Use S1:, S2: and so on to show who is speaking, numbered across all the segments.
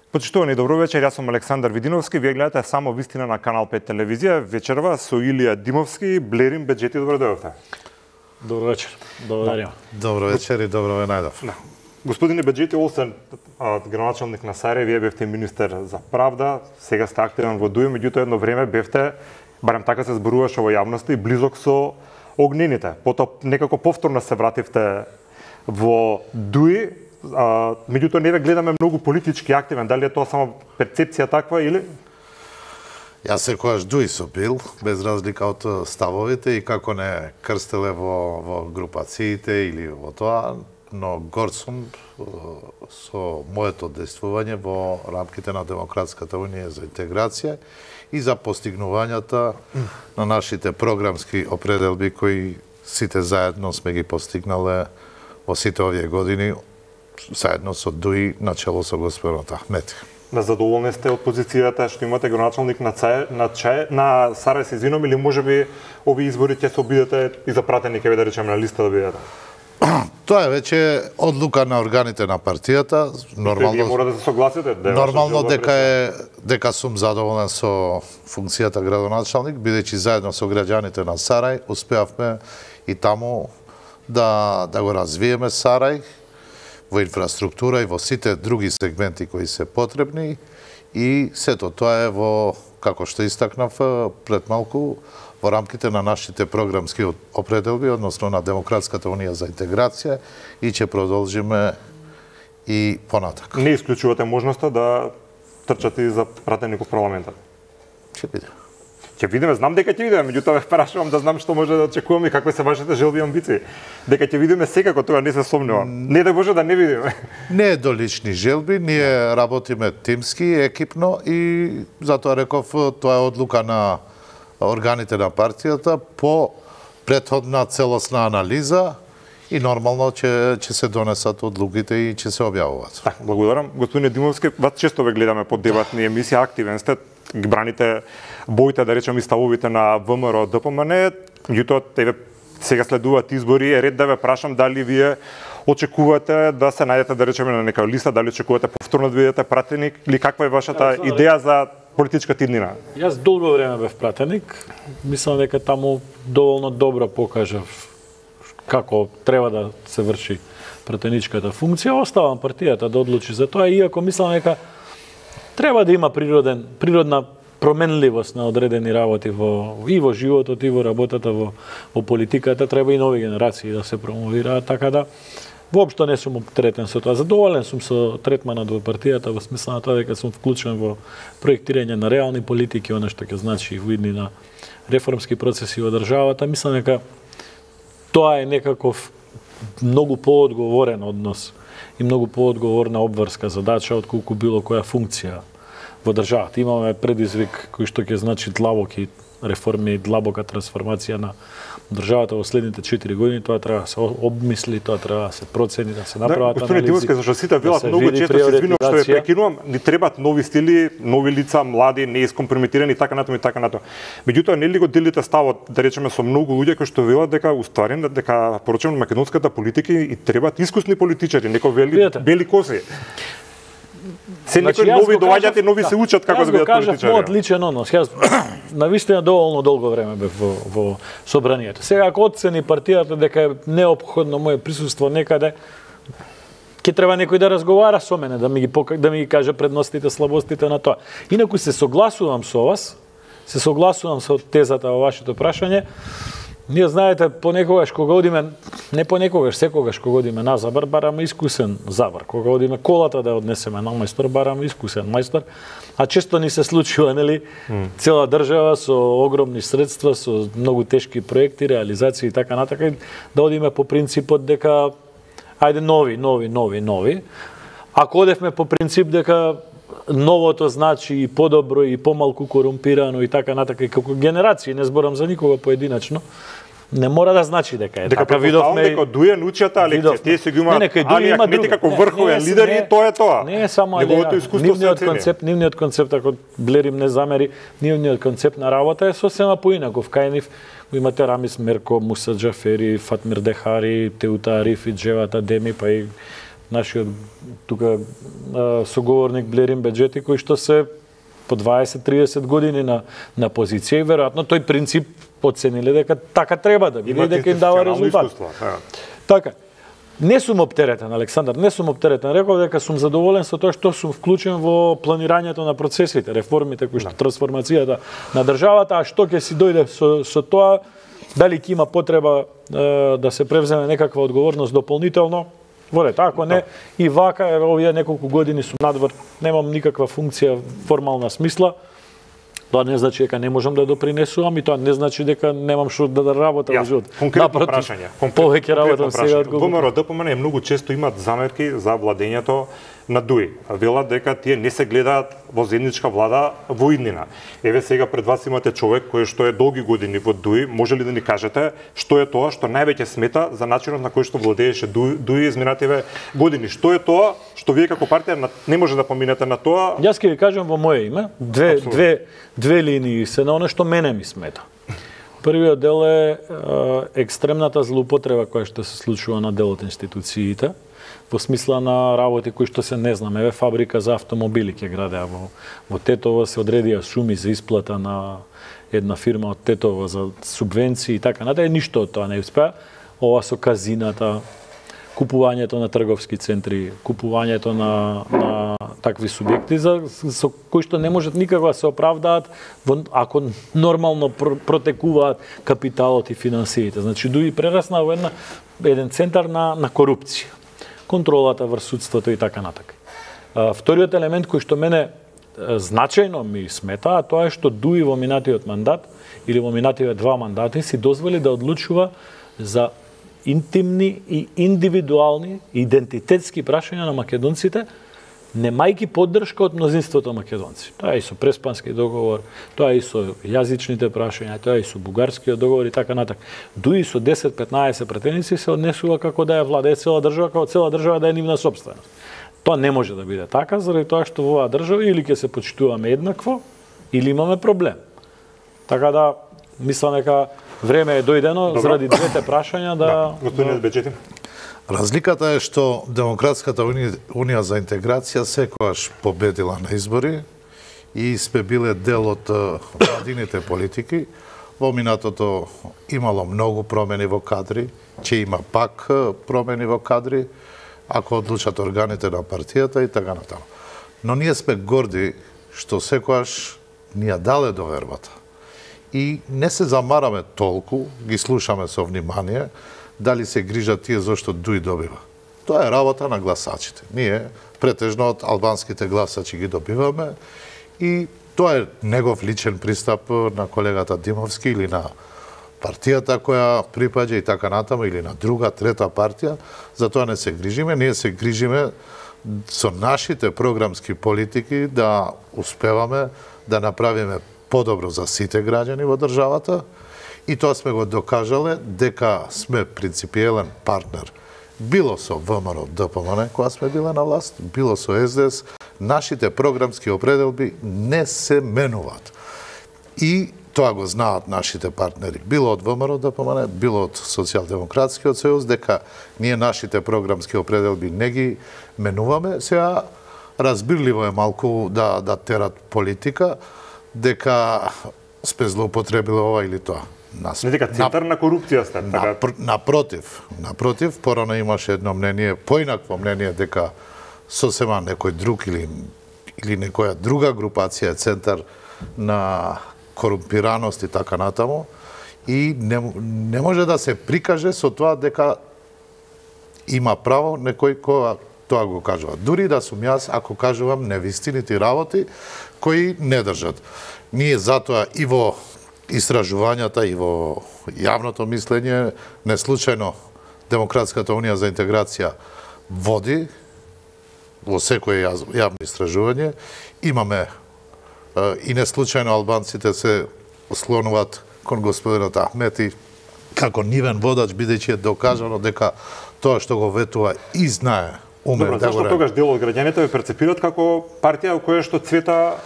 S1: Почитувани, добро вечер, јас сум Александар Видиновски, вие гледате само вистина на Канал 5 телевизија, вечерва со Илија Димовски, Блерим Беџети, добро дојдовте.
S2: Добро вечер, благодарам.
S3: Добро вечер и добро ве најдов.
S1: Господине Беџети, освен градоначалник на Сарај, вие бевте министер за правда, сега сте активен во ДУИ, меѓутоа едно време бевте, барем така се зборуваше во јавноста, и близок со огнените. Потоа некако повторно се вративте во ДУИ, меѓутоа не ве гледаме многу политички активен. Дали е тоа само перцепција таква или?
S3: Јас секогаш ДУИ сум бил, без разлика од ставовите и како не крстеле во групациите или во тоа, но горд сум со моето действување во рамките на Демократската унија за интеграција и за постигнувањата на нашите програмски определби кои сите заедно сме ги постигнале во сите овие години, заедно со ДУИ начело со господинот Ахмети.
S1: Задоволни сте од позицијата што имате градоначалник на Сарај, се извинувам, или можеби овие избори ќе се обидете и за пратеник, да речеме, на листа да бидете?
S3: Тоа е веќе одлука на органите на партијата.
S1: Нормално мора да се согласите.
S3: Нормално дека сум задоволен со функцијата градоначалник, бидејќи заедно со граѓаните на Сарај успеавме и таму да го развиеме Сарај во инфраструктура и во сите други сегменти кои се потребни, и сето тоа е во, како што истакнав пред малку, во рамките на нашите програмски определби, односно на Демократската унија за интеграција, и ќе продолжиме и понатак.
S1: Не исклучувате можноста да трчате и за пратеник во парламентот?
S3: Ќе биде.
S1: Ќе видиме, знам дека ќе видиме, меѓутоа ве прашувам да знам што може да очекуваме и какви се вашите желби и амбиции. Дека ќе видиме секако, тоа не се сомневам. Не да може да не видиме.
S3: Не е до лични желби, ние работиме тимски, екипно, и затоа реков тоа е одлука на органите на партијата по претходна целосна анализа и нормално ќе се донесат одлуките и ќе се објавуваат.
S1: Так, благодарам. Господине Димовски, вас често ве гледаме по дебатни емисии, активен сте, браните боите, да речем, и ставовите на ВМРО, ДПМН, меѓутоа сега следуваат избори, е ред да ве прашам дали вие очекувате да се најдете, да речеме, на нека листа, дали очекувате повторно да бидете пратеник, или каква е вашата идеја за политичката иднина?
S2: Јас долго време бев пратеник, мислам дека таму доволно добро покажав како треба да се врши пратеничката функција. Оставам партијата да одлучи за тоа, иако мислам дека треба да има природна променливост на одредени работи и во животот, и во работата, во политиката. Треба и нови генерации да се промовираат, така да воопшто не сум оптеретен со тоа. Задоволен сум со третманот во партијата, во смисла на тоа дека сум вклучен во проектирање на реални политики, она што ќе значи во идни на реформски процеси во државата. Мислам дека тоа е некаков многу поодговорен однос и многу поодговорна обврска задача отколку било која функција во државата. Имаме предизвик кој што ќе значи длабоки реформи и длабока трансформација на државата во следните 4 години. Тоа треба да се обмисли, тоа треба да се процени, да се направат анализи.
S1: Господине Димовски, зашто сите велат многу често, се извинувам што ве прекинувам, ни требаат нови стили, нови лица, млади, неискомпрометирани, така натаму и така натаму. Меѓутоа, нели го делите ставот, да речеме, со многу луѓе кои што велат дека уствари дека порочено македонската политика и требаат искусни политичари, некои бели коси. Се некои нови доаѓаат и нови се учат како да бидат политичари.
S2: Јас го кажав мојот личен однос. Јас навистина доволно долго време бев во собранието. Сега ако оцени партијата дека е неопходно моје присуство некаде, ќе треба некој да разговара со мене, да ми ги каже предностите, слабостите на тоа. Инаку се согласувам со вас, се согласувам со тезата во вашето прашање. Ние, знаете, понекогаш кога одиме, не понекогаш, секогаш кога одиме на забар, бараме искусен забар. Кога одиме колата да однесеме на мајстор, бараме искусен мајстор. А често ни се случува, нели, цела држава со огромни средства, со многу тешки проекти, реализации и така натака, да одиме по принципот дека ајде нови. Ако одевме по принцип дека новото значи и подобро и помалку корумпирано и така натака, и како генерации, не зборам за никога поединечно, не мора да значи дека е така.
S1: Видовме дека Дује научата лекција, тие се ги имаат Али Ахмети како врховен лидер и тоа е тоа.
S2: Не е само нивниот концепт, ако Блерим не замери, нивниот концепт на работа е сосема поинаков. Кај нив имате Рамис Мерко, Муса Џафери, Фатмир Дехари, Теута Ариф и Джевата Деми, па и нашиот тука соговорник Блерин Беджети, кои што се по 20-30 години на позиција и веројатно тој принцип оцениле дека така треба да биде и дека им дава резултат. Така. Не сум оптеретен, Александар, не сум оптеретен. Реков дека сум задоволен со тоа што сум вклучен во планирањето на процесите, реформите, кои што трансформацијата на државата, а што ќе си дојде со тоа, дали ќе има потреба да се превземе некаква одговорност дополнително, ворете, ако не, и вака, овие неколку години сум надвор, немам никаква функција, формална смисла, тоа не значи дека не можам да допринесувам и тоа не значи дека немам што да работам во живот.
S1: Конкретно прашање.
S2: Повеќе работам сега од
S1: ВМРО ДПМН многу често имаат замерки за владењето на ДУИ. Велат дека тие не се гледаат во заедничка влада во иднина. Еве сега пред вас имате човек кој што е долги години во ДУИ, може ли да ни кажете што е тоа што највеќе смета за начинот на кој што владееше ДУИ изминативе години? Што е тоа што вие како партија не може да поминете на тоа?
S2: Јас ќе ви кажам во моје име, две линии се на оно што мене ми смета. Првиот дел е екстремната злоупотреба која што се случува на дел од институциите, во смисла на работи кои што се не знам. Еве фабрика за автомобили ќе градеа во Тетово, се одредија суми за исплата на една фирма од Тетово за субвенции и така натаму, ништо од тоа не успеа. Ова со казината, купувањето на трговски центри, купувањето на такви субјекти со кои што не можат никако да се оправдаат ако нормално протекуваат капиталот и финансиите. Значи ДУИ прерасна во еден центар на корупција. Контролата врз судството и така натака. Вториот елемент кој што мене значајно ми смета, тоа е што ДУИ во минатиот мандат или во минативе 2 мандати си дозволи да одлучува за интимни и индивидуални идентитетски прашања на македонците, немајки поддршка од мнозинството македонци. Тоа е и со Преспански договор, тоа е и со јазичните прашања, тоа е и со бугарскиот договор и така натак. ДУИ со 10-15 пратеници се однесува како да е владее цела држава, како цела држава да е нивна сопственост. Тоа не може да биде така, заради тоа што во оваа држава или ќе се почитуваме еднакво, или имаме проблем. Така да, мислам дека време е дојдено заради двете прашања да...
S1: Господин Беджети.
S3: Разликата е што Демократската унија за интеграција секогаш победила на избори и сме биле дел од владините политики. Во минатото имало многу промени во кадри, ќе има пак промени во кадри, ако одлучат органите на партијата и така натаму. Но ние сме горди што секогаш ни ја дале довербата. И не се замараме толку, ги слушаме со внимание, дали се грижат тие зашто ДУИ добива. Тоа е работа на гласачите. Ние претежно од албанските гласачи ги добиваме и тоа е негов личен пристап на колегата Димовски или на партијата која припаѓа и така натаму или на друга, трета партија. За тоа не се грижиме. Ние се грижиме со нашите програмски политики да успеваме да направиме подобро за сите граѓани во државата. И тоа сме го докажале дека сме принципиелен партнер. Било со ВМРО ДПМН, кога сме биле на власт, било со СДС, нашите програмски определби не се менуваат. И тоа го знаат нашите партнери, било од ВМРО ДПМН, било од Социјалдемократскиот сојуз, дека ние нашите програмски определби не ги менуваме. Сега разбирливо е малку да терат политика, дека сме злоупотребиле ова или тоа.
S1: Не дека центар на корупција сте, така?
S3: Напротив, порано имаше едно мнение, поинакво мнение дека сосема некој друг или некоја друга групација е центар на корумпираност и така натаму. И не може да се прикаже со тоа дека има право некој која тоа го кажува. Дури да сум јас, ако кажувам невистините работи кои не држат. Ние затоа и во истражувањата и во јавното мислење, не случајно Демократската унија за интеграција води во секое јавно истражување. Имаме и не случајно албанците се слонуваат кон господинот Ахмети како нивен водач, бидејќи е докажано дека тоа што го ветува и знае, уме да го
S1: зашто тогаш дел од граѓаните ве перцепираат како партија во која што цвета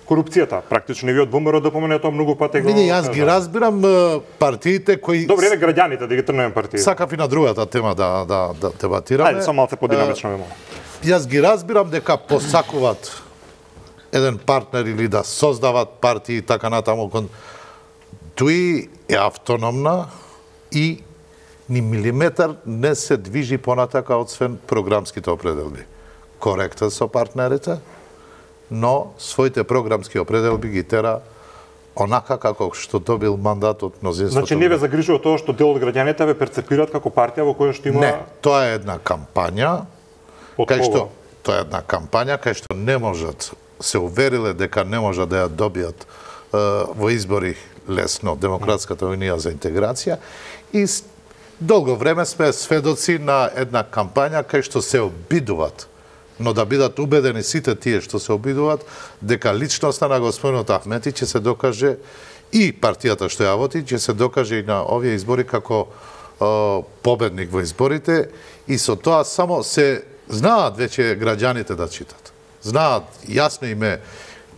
S1: корупцијата. Практично и ви од ВМРО да помене тоа многу пати го.
S3: Види, јас ги разбирам партиите кои
S1: Добре, граѓаните да ги трнеме партии.
S3: Сакав и на другата тема да дебатираме.
S1: Ајде, само малце подинамично ме молам.
S3: Јас ги разбирам дека посакуваат еден партнер или да создават партии и така натаму. Тој е автономна и ни милиметар не се движи понатака освен програмските определби. Коректен со партнерите, но своите програмски определби ги тера онака како што добил мандат од мнозинството.
S1: Значи не ве загрижува тоа што дел од граѓаните ве перцепираат како партија во која што има.
S3: Не, тоа е една кампања. Кај што тоа е една кампања кај што не можат, се увериле дека не можат да ја добијат во избори лесно Демократската унија за интеграција и долго време сме сведоци на една кампања кај што се обидуваат, но да бидат убедени сите тие што се обидуваат дека личноста на господинот Ахмети ќе се докаже и партијата што ја води ќе се докаже и на овие избори како победник во изборите и со тоа само се знаат веќе граѓаните да читат. Знаат јасно име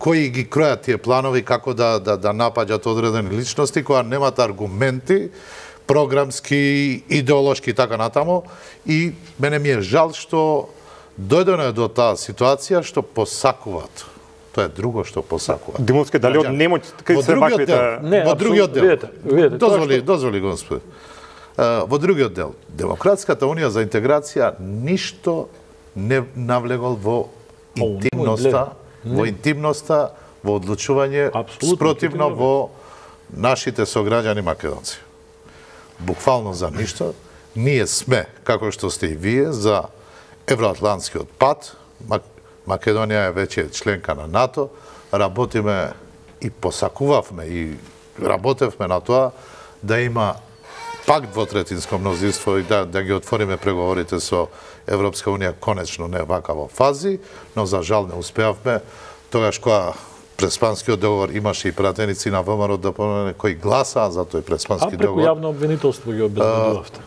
S3: кои ги кројат тие планови како да напаѓат одредени личности кои немаат аргументи програмски, идеолошки и така натаму и мене ми е жал што дојдено е до таа ситуација што посакуваат. Тоа е друго што посакуваат.
S1: Димовски, дали од немој кај се ваквите?
S3: Во другиот дел.
S2: Видете,
S3: дозволи Господ. Во другиот дел, Демократската унија за интеграција ништо не навлегол во интимноста, во одлучување спротивно во нашите сограѓани македонци. Буквално за ништо. Ние сме, како што сте и вие, за евроатлантскиот пат. Македонија е веќе членка на НАТО. Работиме и посакувавме и работевме на тоа да има пакт двотретинско мнозинство и да ги отвориме преговорите со Европска унија конечно не вака во фази, но за жал не успеавме. Тогаш кога Преспанскиот договор имаше и пратеници на ВМРО да помене кои гласаа за тој Преспански договор.
S2: А преку јавно обвинителство ги обезбедувавте.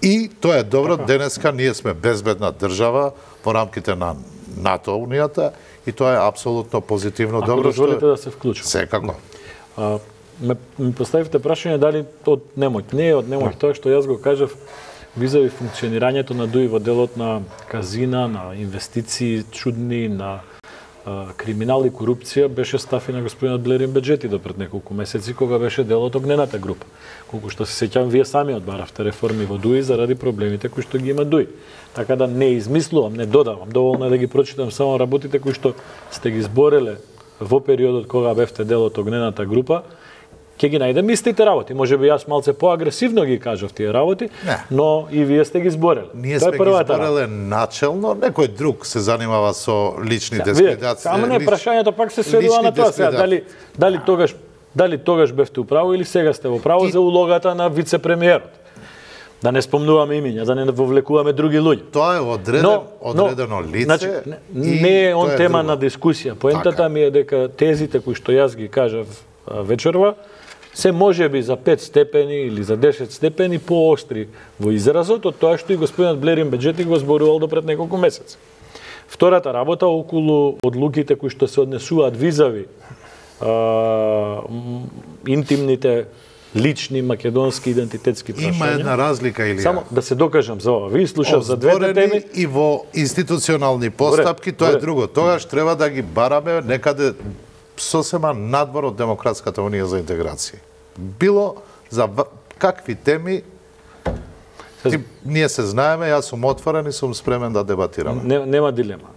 S3: И тоа е добро, денеска ние сме безбедна држава во рамките на НАТО унијата и тоа е апсолутно позитивно добро.
S2: Ако дозволите да се вклучам.
S3: Секако.
S2: Ми поставивте прашање дали од немој. Не е од немој тоа што јас го кажав визави функционирањето на ДУИ во делот на казина, на инвестиции чудни, на криминал и корупција беше став и на господинот Блерин Беџети до пред неколку месеци кога беше дел од огнената група. Колку што се сеќавам, вие сами одбаравте реформи во ДУИ заради проблемите кои што ги има ДУИ. Така да не измислувам, не додавам, доволно е да ги прочитам само работите кои што сте ги збореле во периодот кога бевте дел од огнената група. Ќе ги најдем истите работи. Може би јас малце поагресивно ги кажав тие работи, но и вие сте ги збореле.
S3: Ние сме ги збореле начелно, некој друг се занимава со лични дискредитации.
S2: Ама не, прашањето пак се сведува на тоа сега. Дали тогаш бевте управо или сега сте во право за улогата на вице-премиерот? Да не спомнуваме имиња, да не вовлекуваме други луѓе.
S3: Тоа е одредено лице.
S2: Значи, не е он тема на дискусија. Поентата ми е дека тезите кои што јас ги кажав вечерва, се може би за 5 степени или за 10 степени поостри во изразот од тоа што и господинот Блерин Беџети го зборувал до пред неколку месеци. Втората работа околу одлуките кои што се однесуваат визави интимните лични македонски идентитетски прашања.
S3: Има една разлика или
S2: само да се докажам за ова. Ви слушав за двете теми
S3: и во институционални постапки, тоа е друго. Тогаш треба да ги бараме некаде сосема надвор од Демократската унија за интеграција. Било за какви теми ние се знаеме, јас сум отворен и сум спремен да дебатираме.
S2: Нема дилема.